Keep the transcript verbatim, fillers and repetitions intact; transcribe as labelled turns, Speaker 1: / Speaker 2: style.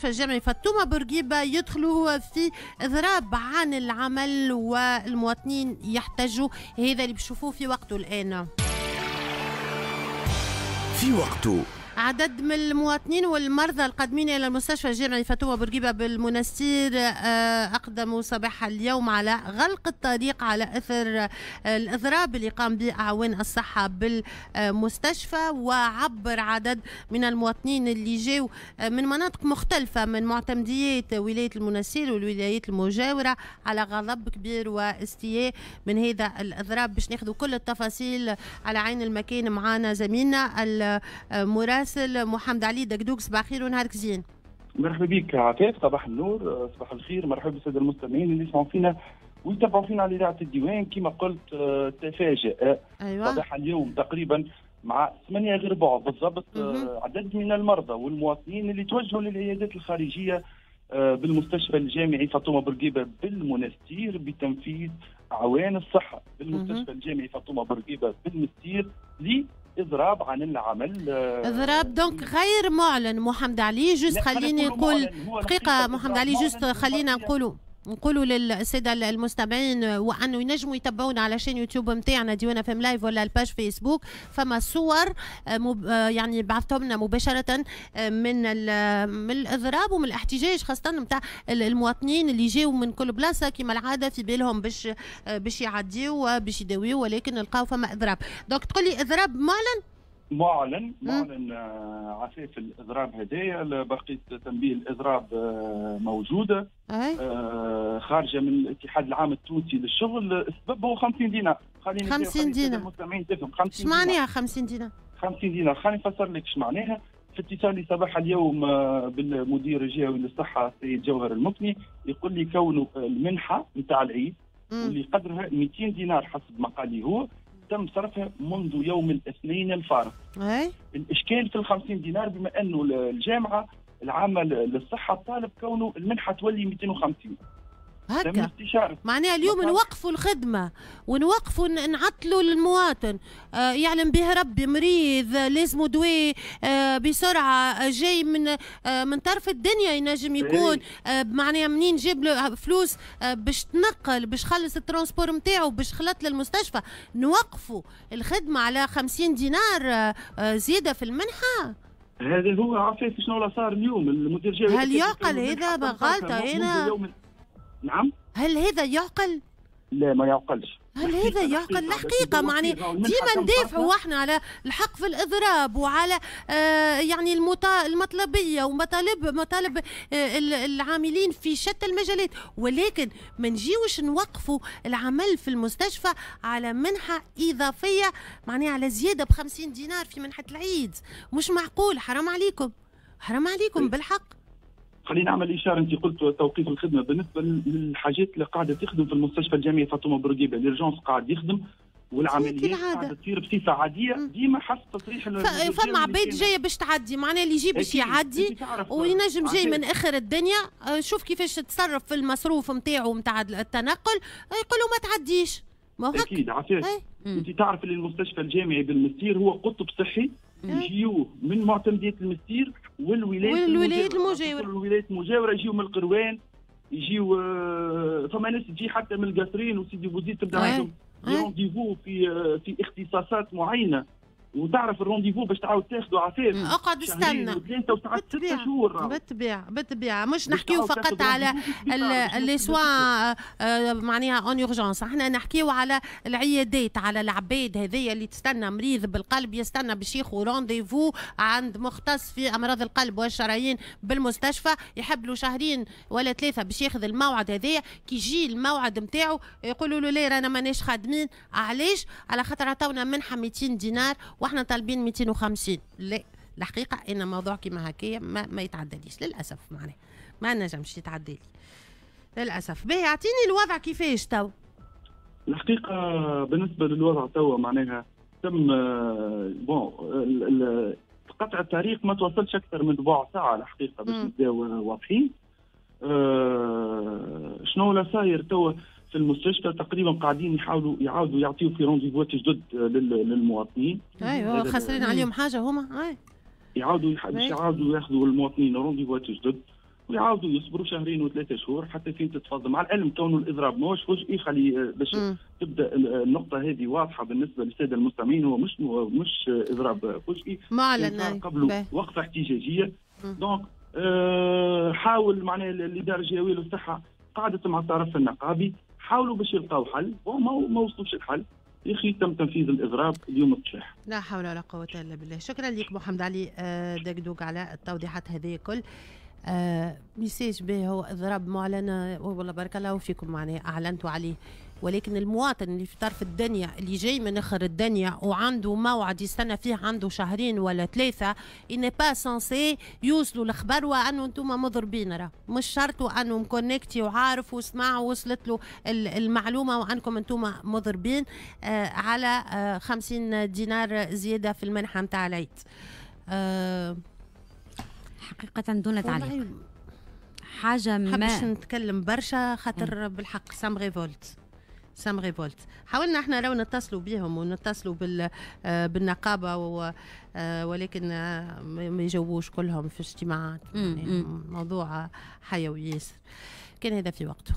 Speaker 1: الجامعي فاطمة بورقيبة يدخلوا في إضراب عن العمل والمواطنين يحتجوا. هذا اللي بشوفوه في وقته الآن.
Speaker 2: في وقته
Speaker 1: عدد من المواطنين والمرضى القادمين إلى المستشفى الجامعي فاطمة بورقيبة بالمنستير أقدموا صباح اليوم على غلق الطريق على أثر الإضراب اللي قام به أعوان الصحة بالمستشفى. وعبر عدد من المواطنين اللي جاوا من مناطق مختلفة من معتمديات ولاية المنستير والولايات المجاورة على غضب كبير واستياء من هذا الإضراب. باش ناخذ كل التفاصيل على عين المكان معنا زميلنا المراسل محمد علي دقدوق. صباح الخير ونهارك زين.
Speaker 3: مرحبا بك عفاف، صباح النور، صباح الخير. مرحبا بالساده المستمعين اللي يسمعوا فينا ويتابعوا فينا على اذاعة الديوان. كما قلت تفاجئ أيوة. صباح اليوم تقريبا مع ثمانية غير ربع بالضبط عدد من المرضى والمواطنين اللي توجهوا للعيادات الخارجية بالمستشفى الجامعي فاطمة بورقيبة بالمنستير بتنفيذ اعوان الصحة بالمستشفى الجامعي فاطمة بورقيبة بالمنستير ل اضراب عن العمل.
Speaker 1: اضراب donc غير معلن محمد علي. juste خليني نقول دقيقة محمد علي، juste خلينا نقولوا نقولوا للسادة المستمعين وانه ينجموا يتبعونا على chaîne يوتيوب نتاعنا ديوان اف ام live ولا ال page فيسبوك. فما صور يعني بعثتهم لنا مباشرة من من الاضراب ومن الاحتجاج خاصة نتاع المواطنين اللي جاوا من كل بلاصة كما العادة في بالهم باش باش يعديوا باش يداويوا، ولكن لقاو فما اضراب. donc تقول لي اضراب معلن؟
Speaker 3: معلن معلن عفاف الاضراب هدايا. برقية تنبيه الاضراب موجودة آه خارجه من الاتحاد العام التونسي للشغل. السبب هو خمسين دينار.
Speaker 1: خليني خمسين دينار
Speaker 3: المستمعين تفهم. خمسين
Speaker 1: اش معناها خمسين دينار؟
Speaker 3: خمسين دينار خليني نفسر لك اش معناها. في اتصالي صباح اليوم بالمدير الجهوي للصحة السيد جوهر المكني يقول لي كونه المنحة نتاع العيد واللي قدرها مئتين دينار حسب ما قال لي هو تم صرفها منذ يوم الاثنين الفارط.
Speaker 1: أي؟
Speaker 3: الاشكال في ال خمسين دينار بما انه الجامعة العامة للصحة طالب كونه المنحة تولي مئتين وخمسين.
Speaker 1: هكا معناها اليوم نوقفوا الخدمة ونوقفوا نعطلوا للمواطن. آه يعلم به ربي مريض لازمه دواء آه بسرعة جاي من آه من طرف الدنيا ينجم يكون آه معناها منين جاب له فلوس آه باش تنقل باش خلص ال transport نتاعو باش خلط للمستشفى. نوقفوا الخدمة على خمسين دينار آه زيادة في المنحة.
Speaker 3: هذا هو عفاف شنو صار اليوم المدير الجهوي.
Speaker 1: هل يعقل هذا؟ غلطه هنا.
Speaker 3: نعم،
Speaker 1: هل هذا يعقل؟
Speaker 3: لا ما يعقلش.
Speaker 1: هل هذا يعقل؟ الحقيقة معني ديما ندافعوا احنا على الحق في الإضراب وعلى آه يعني المطلبية ومطالب مطالب آه العاملين في شتى المجالات، ولكن ما نجيوش نوقفوا العمل في المستشفى على منحة إضافية معناها على زيادة ب خمسين دينار في منحة العيد. مش معقول، حرام عليكم، حرام عليكم بالحق.
Speaker 3: خلينا نعمل اشارة، انت قلت توقيف الخدمة بالنسبة للحاجات اللي قاعدة تخدم في المستشفى الجامعي فاطمة بورقيبة، l'urgence قاعد يخدم والعمليات قاعدة تصير بصفة عادية ديما حسب تصريح.
Speaker 1: فما عباد جاية باش تعدي، معناها اللي يجي باش يعدي وينجم جاي من اخر الدنيا شوف كيفاش تصرف في المصروف نتاعو نتاع التنقل يقولوا ما تعديش. ما هو
Speaker 3: اكيد عفاف. انت تعرف اللي المستشفى الجامعي بالمستير هو قطب صحي يجيوه من معتمدية المستير والولايات
Speaker 1: والولايات المجاورة.
Speaker 3: الولايات المجاورة يجيو من القروان، يجيو فما ناس تجي حتى من القصرين وسيدي بوزيد تبدا عندهم rendez-vous في في اختصاصات معينة، وتعرف ال rendez-vous باش تعاود تاخذه عفاف
Speaker 1: اقعد استنى
Speaker 3: ثلاثة وساعات ستة شهور.
Speaker 1: بالطبيعة بالطبيعة مش نحكيو فقط على les soins معناها en urgence، احنا نحكيو على العيادات، على العباد هذيا اللي تستنى مريض بالقلب يستنى باش ياخذ rendez-vous عند مختص في امراض القلب والشرايين بالمستشفى، يحب له شهرين ولا ثلاثة باش ياخذ الموعد هذايا. كي يجي الموعد نتاعو يقولوا له لا رانا ماناش خادمين. علاش؟ على خاطر عطاونا منحه مئتين دينار واحنا طالبين مئتين وخمسين. لا الحقيقة ان موضوع كيما هكايا ما, ما يتعدليش للاسف، معناها ما نجمش يتعدلي للاسف. باهي اعطيني الوضع كيفاش تو.
Speaker 3: الحقيقة بالنسبة للوضع تو معناها تم bon قطع الطريق ما توصلش اكثر من ربع ساعة الحقيقة باش نبداو واضحين. أه شنو لا صاير تو في المستشفى تقريبا قاعدين يحاولوا يعاودوا يعطيو في rendez-vous ات جدد للمواطنين.
Speaker 1: ايوه خسرين عليهم حاجة هما. اي
Speaker 3: يعاودوا يعاودوا ياخذوا المواطنين rendez-vous ات جدد. ويعاودوا يصبروا شهرين وثلاثة شهور حتى فين تتفضل. مع العلم كونه الاضراب ماهوش فجئي، خلي باش م. تبدا النقطة هذه واضحة بالنسبة للسادة المستمعين، هو مش مش اضراب فجئي،
Speaker 1: معلن
Speaker 3: قبله وقفه احتجاجية. donc أه حاول معناها الادارة الجهوية للصحة قعدت مع الطرف النقابي، حاولوا باش يلقاو حل وما ما وصلوش الحل، يا اخي تم تنفيذ الاضراب اليوم الصباح.
Speaker 1: لا حول ولا قوة الا بالله. شكرا لك محمد علي دقدوق على التوضيحات هذه كل. آه message به هو اضراب معلن، والله بارك الله فيكم معناها اعلنتوا عليه، ولكن المواطن اللي في طرف الدنيا، اللي جاي من اخر الدنيا وعنده موعد يستنى فيه عنده شهرين ولا ثلاثة، il n'est pas censé يوصلوا الخبر وانه انتم مضربين. راه مش شرط انه م connecté وعارف وسمع ووصلت له المعلومة وانكم انتم مضربين آه على آه خمسين دينار زيادة في المنحة نتاع العيد. آه
Speaker 2: حقيقة دون تعليق، حاجة ما
Speaker 1: حبش نتكلم برشا خاطر بالحق ça me révolte، ça me révolte. حاولنا احنا لو نتصلوا بهم ونتصلوا بال بالنقابه و ولكن ما يجاوبوش، كلهم في اجتماعات، يعني موضوع حيوي ياسر. كان هذا في وقته.